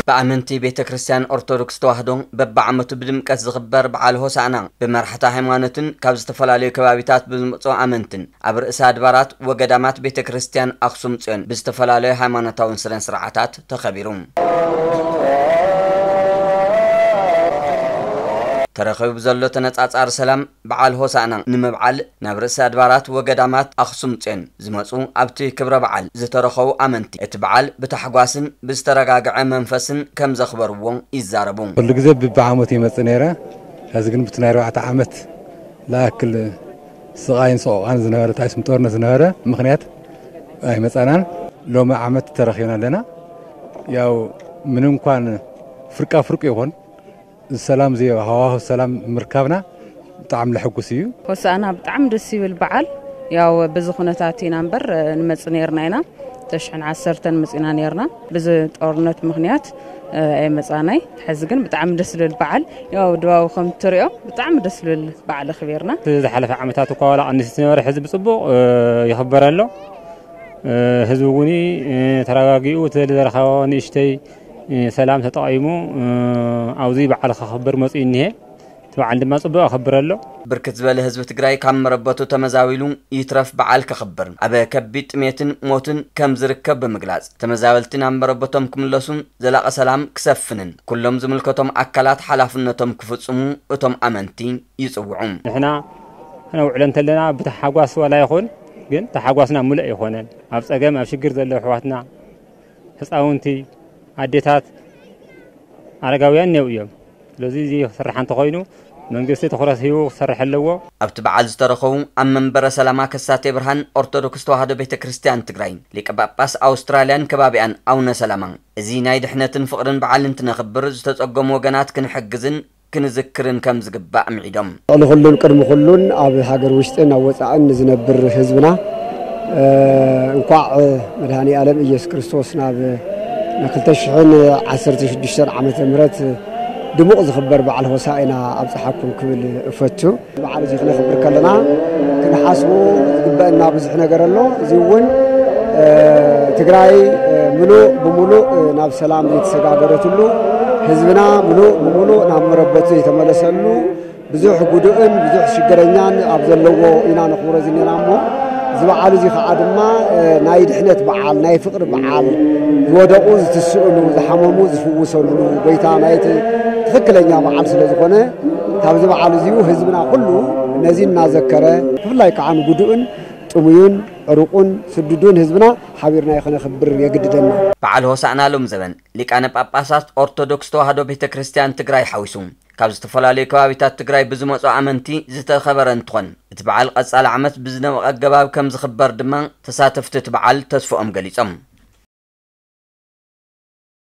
ብኣመንቲ ቤተ ክርስቲያን ኦርቶዶክስ ተዋህዶ በብዓመቱ ብድምቀት ዝኽበር በዓል ሆሳዕና ብመራሕቲ ሃይማኖትን ካብ ዝተፈላለዩ ከባቢታት ብዝመፁ ኣመንትን ኣብ ርእሰ ኣድባራት ወገዳማት ቤተ ክርስቲያን ኣኽሱም ጽዮን ብዝተፈላለዩ ሃይማኖታውን ስነ ስርዓታት ተኸቢሩ። ተረኺቡ ብዘሎ ተነጻጻሪ ሰላም በዓል ሆሳዕና ንምብዓል ናብ ርእሰ ኣድባራት ወገዳማት ኣኽሱም ጽዮን ዝመጹ ኣብቲ ክብረ በዓል ዝተረኸቡ ኣመንቲ እቲ በዓል ብታሕጓስን ብዝተረጋግዐ መንፈስን ከም ዘኽበርዎ ይዛረቡ። ኩሉ ግዜ ብብዓመቱ ይመጽእ ነይረ። ሕዚ ግን ብቲ ናይ ኣርባዕተ ዓመት ዝኣክል ስቓይን ሰቆቓን ዝነበረ፣ ታይስም ጦርነት ዝነበረ ምኽንያት ኣይመጻናን። ሎሚ ዓመት ተረኺብና ኣለና። ያው ምንም እንኳን ፍርቃ ፍርቁ ይኹን፣ ሰላም እዚ ሃዋሁ ሰላም ምርካብና ብጣዕሚ ለሐጉስ እዩ። ሆሳዕና ብጣዕሚ ደስ ይብል በዓል። ያው በዚ ኩነታት ኢና እምበር ንመጽእ ነይርና ኢና። ተሽሕን ዓሰርተን መጺና ነይርና። በዚ ጦርነት ምኽንያት ኣይመጻናይ። ሕዚ ግን ብጣዕሚ ደስ ዝብል በዓል። ያው ድባቡ ከም ትሪኦ ብጣዕሚ ደስ ዝብል በዓል ኣኽቢርና። ዝሓለፈ ዓመታት እኳ ዋላ ቀንስ ዝነበረ ሕዚ ብጽቡቕ ይኽበር ኣሎ። ህዝቢ እውን ተረጋጊኡ እቲ ዘረኻቦ ንእሽተይ ሰላም ተጠቒሙ ኣብዚ በዓል ከኽብር መፂኡ እኒሀ። እቲ በዓል ድማ ጽቡቕ ኣኸብር ኣሎ። ብርክት ዝበለ ህዝቢ ትግራይ ካብ መረበቱ ተመዛዊሉ ይትረፍ በዓል ከኽብር ኣብ ከቢድ ጥሜትን ሞትን ከም ዝርከብ ብምግላጽ ተመዛበልቲ ናብ መረበቶም ክምለሱን ዘላቐ ሰላም ክሰፍንን ኩሎም ዝምልከቶም ኣካላት ሓላፍነቶም ክፍጽሙ እቶም ኣመንቲ ይጽውዑ። ንሕና ክነውዕሎ እንተለና ብታሓጓስ ዋላ ይኹን፣ ግን ታሓጓስና ሙሉእ ኣይኾነን። ኣብ ጸገም ኣብ ሽግር ዘለዉ ኣሕዋትና፣ ህፃውንቲ፣ ኣዴታት፣ ኣረጋውያን እኔው እዮም። ስለዚ እዚ ክስራሕ እንተኾይኑ መንግስቲ ትኹረት ሂቡ ክሰርሕ ኣለዎ። ኣብቲ በዓል ዝተረኸቡ ኣብ መንበረ ሰላማ ከሳቴ ብርሃን ኦርቶዶክስ ተዋህዶ ቤተ ክርስቲያን ትግራይ ሊቀ ጳጳስ ኣውስትራልያን ከባቢኣን ኣቡነ ሰላማ እዚ ናይ ድሕነትን ፍቕርን በዓል እንትነኽብር ዝተጸገሙ ወገናት ክንሕግዝን ክንዝክርን ከም ዝግባእ ኣምዒዶም። ልዕሊ ኩሉን ቅድሚ ኩሉን ኣብ ሃገር ውሽጥን ኣብ ወጻእን ንዝነብር ህዝብና እንኳዕ መድሃኒ ኣለም ኢየሱስ ክርስቶስ ናብ ንክልተ ሽሕን ዓሰርተ ሽዱሽተን ዓመተ ምህረት ድሙቕ ዝኽበር በዓል ሆሳዕና ኣብጽሓኩም ክብል እፈቱ። በዓል እዚ ክነኽብር ከለና ክንሓስቡ ዝግበእና ብዙሕ ነገር ኣሎ። እዚ እውን ትግራይ ምሉእ ብምሉእ ናብ ሰላም ዘይተሰጋገረትሉ፣ ህዝብና ምሉእ ብምሉእ ናብ መረበቱ ዘይተመለሰሉ፣ ብዙሕ ጉዱእን ብዙሕ ሽግረኛን ኣብ ዘለዎ ኢና ነኽብሮ ዝኔና እሞ፣ እዚ በዓል እዚ ከዓ ድማ ናይ ድሕነት በዓል፣ ናይ ፍቕሪ በዓል፣ ዝወደቑ ዝትስእሉ፣ ዝሓመሙ ዝፍውሰሉ፣ ጎይታ ናይቲ ትኽክለኛ በዓል ስለ ዝኾነ፣ ካብዚ በዓል እዚኡ ህዝብና ኩሉ ነዚ እናዘከረ፣ ብፍላይ ከዓ ንጉዱእን ጥሙዩን ዕሩቑን ስዱዱን ህዝብና ሓቢርና ከነኽብር የግድደና። በዓል ሆሳዕና ሎም ዘበን ሊቃነ ጳጳሳት ኦርቶዶክስ ተዋህዶ ቤተ ክርስቲያን ትግራይ ሓዊሱ ካብ ዝተፈላለዩ ከባቢታት ትግራይ ብዝመፁ ኣመንቲ ዝተኸበረ እንትኾን፣ እቲ በዓል ቀፃሊ ዓመት ብዝደመቐ ኣገባብ ከም ዝኽበር ድማ ተሳተፍቲ እቲ በዓል ተስፍኦም ገሊፆም።